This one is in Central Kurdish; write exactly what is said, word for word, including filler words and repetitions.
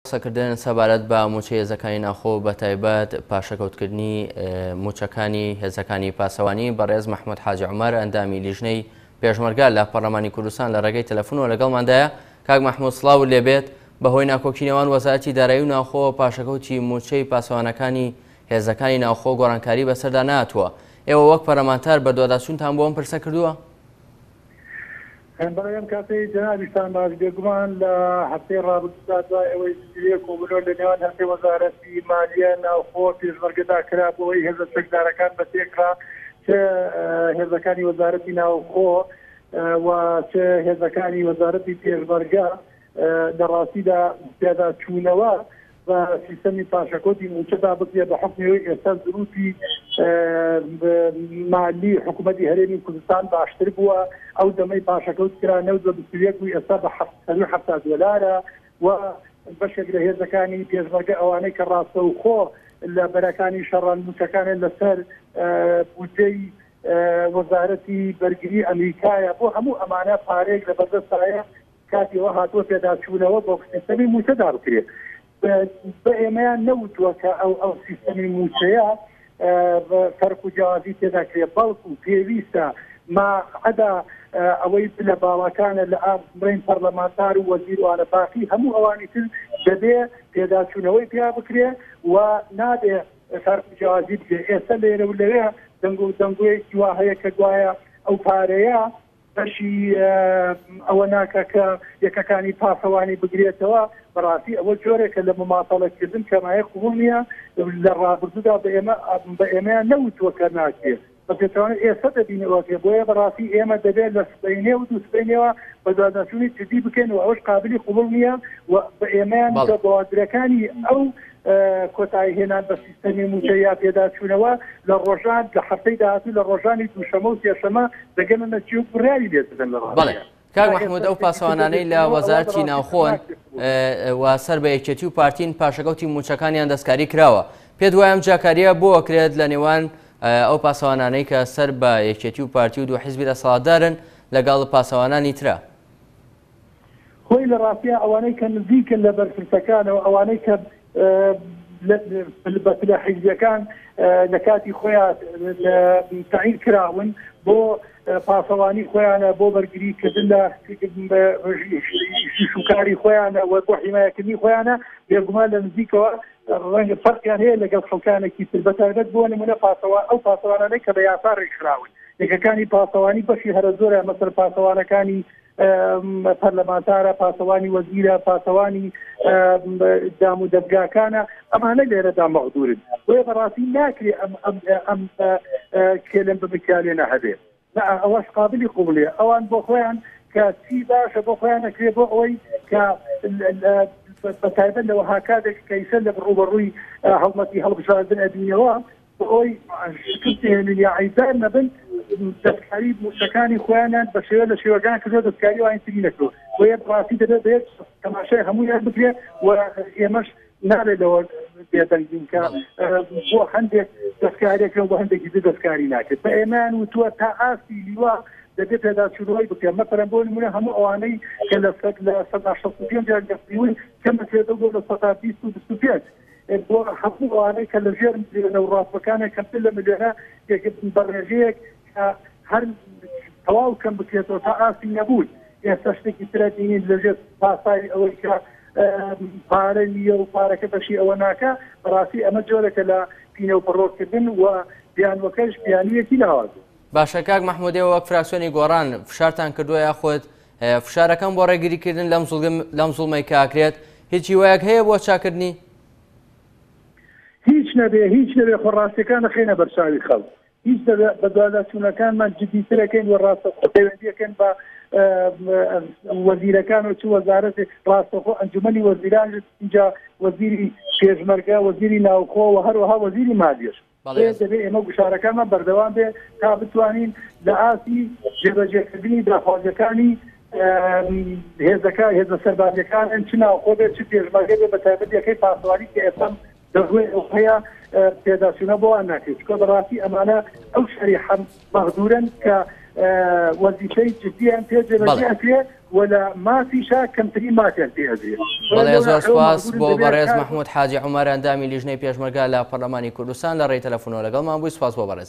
قسەکردن سەبارەت بە موچەی هێزەکانی ناوخۆ بە تایبەت پاشەکەوتکردنی موچەکانی هێزەکانی پاسەوانی بەڕێز مەحمود حاجی عومەر ئەندامی لیژنەی پێشمەرگە لە پەرلەمانی کوردستان لە ڕێگەی تەلەفۆنەوە لەگەڵماندایە. کاک مەحمود سڵاو لێبێت. بەهۆی ناکۆکی نێوان وەزارەتی دارایی و ناوخۆ پاشەکەوتی موچەی پاسەوانەکانی هێزەکانی ناوخۆ گۆڕانکاری بەسەردا نهاتووە. ئێوە وەک پەرلەمانتار بەدواداچوونتان بۆ ئەم پرسە کردووە؟ بەڵێ ئەم کاتەی جەنابیشتان باش بێگومان لە هەفتەی ڕابردوودا دوای ئەوەی زنجیرەیە کۆبوونەوە لە نێوان هەرسێ وەزارەتی مالیە ناوخۆ پێشمەرگەدا کرا بۆ ئەوەی هێزە چەکدارەکان بە تێکرا چ هێزەکانی وەزارەتی ناوخۆ و چ هێزەکانی وەزارەتی پێشمەرگە لە ڕاستیدا پێداچوونەوە بە سیستەمی پاشەکەوتی موچەدا بکرێت بە حوکمی ئەوەی ئێستا زروفی مالی حکوومەتی هەرێمی کوردستان باشتر بووە. ئەو دەمەی پاشەکەوت کرا نەوت بە بیست و یەک بوو، ئێستا بە حەفتا دۆلارە و بەشێک لە هێزەکانی پێشمەرگە ئەوانەی کە ڕاستەوخۆ لە بەرەکانی شەڕان موچەکانیان لەسەر بودجەی وەزارەتی بەرگری ئەمریکایە، بۆ هەموو ئەمانە پارەیەک لە بەردەستایە کاتیەوە هاتووە پێداچوونەوە بۆ سیستەمی موچەدا بکرێت. بە ئێمەیان نەوتووە کە ئەو ئەو سیستەمی موچەیە فەرق و جیاوازی تێدا کرێت، بەڵکو پێویستە ما عەدا ئەوەی لە باڵاکانە لە بڵێن پەرلەمانتار و وەزیروانە باقی هەموو ئەوانی تر دەبێ پێداچوونەوەی پیا بکرێ و نابێ فەرق و جیاوازی بکرێت. ئێستا لێرە و لەوێ دەنگ و دەنگۆیەکی وا هەیە کە گوایە ئەو پارەیە بەشی ئەوە ناکە کە یەکەکانی پاسەوانی بگرێتەوە. بەڕاستی ئەوە جۆرێکە لە مماتەڵەکردن کەمایە قبوڵ نییە. لە ڕابردوودا بە ئێمەیان نەوتووە کە ناکرێت، بەپێچەوانە ئێستا دەبینەوەکێ. بۆیە بەڕاستی ئێمە دەبێت لە سبەینێ و دوو سبەینێوە بەدواداچوونی جدی بکەین و ئەوەش قابلی قبوڵ نییە و بە ئێمەیان بەوادرەکانی ئەو کۆتایی هێنان بە سیستەمی موچە یا پێداچوونەوە لە ڕۆژان لە هەفتەی داهاتوو لە ڕۆژانی دووشەمە و سێشەمە دەگەنە نەچی و بڕیاری لێ دەدەن لە ڕاستیدا. کاک مەحمود، ئەو پاسەوانانەی لە وەزارەتی ناوخۆن و سەر بە یەکێتی و پارتین پاشەکەوتی موچەکانیان دەستکاری کراوە، پێت وایە ئەم جیاکاریە بۆ ئەکرێت لە نێوان ئەو پاسەوانانەی کە سەر بە یەکێتی و پارتی و دوو حیزبی دەسەڵاتدارن لەگەڵ پاسەوانانی ترە؟ خۆی لە ڕاستیە ئەوانەی کە نزیکن لە بەرپرسەکانەوە، ئەوانەی کە بە پلە حیزبیەکان لە کاتی خۆیان تەعین کراون بۆ پاسەوانی خۆیانە، بۆ بەرگریکردن لە شوکاری خۆیانە و بۆ حیمایەکردنی خۆیانە، بێگومان لە نزیکەوە ڕەنگە فەرقیان هەیە لەگەڵ خەڵکانێکی تر، بەتایبەت بۆ نمونە پاسەوان ئەو پاسەوانانەی کە بە یاسا ڕێکخراون. یەکەکانی پاسەوانی بەشی هەرە زۆرە، مەسەر پاسەوانەکانی پەرلەمانتارە، پاسەوانی وەزیرە، پاسەوانی دام و دەزگاکانە، ئەمانە لێرەدا مەغدورن. بۆیە بەڕاستی ناکرێ ئەم ئەم ئەم کێلم بمکالێنە هەبێت. ئەوەش قابلی قبوڵیە. ئەوان بۆ خۆیان کە چی باشە بۆ خۆیان ئەکرێ بۆ ئەوەی کە بە تایبەت لە وەها کاتێک کە ئیسە لە ڕووبەڕووی هەڵمەتی هەڵبژاردن ئەبینەوە بۆ ئەوەی شکست هێنن یا عیبدار نەبن، دەستکاری موچەکانی خۆیانیان بە شێوە لە شێوەکان کردووە، دەستکاری ئەوانی تری نەکردووە. بۆیە بەڕاستی دەبێت بە یەک تەماشای هەموویان بکرێت و ئێمەش نابێت لەوە بێدەنگ بین کە بۆ هەندێک دەستکاریەکە و بۆ هەندێکی تر دەستکاری ناکرێت. بە ئێمەیان وتووە تا ئاستی لیوا دەبێت پێداچوونەوەی بکرێت. مەسەلەن بۆ نمونە هەموو ئەوانەی کە لە سەدا شەست و پێنج یان دەستیون کەم بکرێتەوە بۆ لە سەدا بیست و بیست و پێنج، بۆ هەموو ئەوانەی کە لە ژێر ملیۆنە و ڕاستەکانە کەمتر لە ملیۆنە بە ڕێژەیەک کە هەر تەواو کەم بکرێتەوە تا ئاستی نەبوون. ئێستا شتێکی ترە بینین لەژێر پاساوی ئەوەی کە پارە نییە و پارەکە بەشی ئەوە ناکە. بەڕاستی ئەمە جۆرێکە لە پینە و پەڕۆکردن و بیانوەکەش بیانوویەکی لاوازە. باشە کاک مەحمود، ئێوە وەک فراکسیۆنی گۆڕان فشارتان کردووە یاخود فشارەکەم بۆ ڕێگریکردن لەم زوڵمەی کە ئاکرێت، هیچ هیوایەک هەیە بۆ چاکردنی؟ هیچ نەبێ، هیچ نەبێ خۆ ڕاستیەکان دەخەینە بەرچاوی خەڵک. هیچ نەبێ بەدواداچوونەکانمان جدیترەکەین و ڕاستەوخۆ پەیوەندیەکەن بە وەزیرەکان و چ وەزارەتێک، ڕاستەوخۆ ئەنجومەنی وەزیران، اینجا وەزیری پێشمەرگە، وەزیری ناوخۆ و هەروەها وەزیری مالیەش. دەبێت ئێمە گوشارەکانمان بەردەوام بێ تا بتوانین لە ئاستی جێبەجێکردنی داخوازیەکانی هێزەکە هێزە سەربازیەکانن، چ ناوخۆ بێت چ پێشمەرگە بێت، بە تایبەت یەکەی پاسەوانی کە ئێستا دەڕوێ هەیە پێداچوونە بۆوان ناکرێت. چونکە بەڕاستی ئەمانە ئەو شەریحە مەغدورن کە وەزیفەی جدیان پێ جێبەجێ ئەکرێ و لە مافیشا کەمترین مافیان پێ ئەدرێت. بەڵێ زۆر سوپاس بۆ بەڕێز مەحمود حاجی عومەر ئەندامی لیژنەی پێشمەرگە لە پەرلەمانی کوردستان لە ڕێی تەلەفۆنەوە لەگەڵمان بووی. سوپاس بۆ بەڕێز.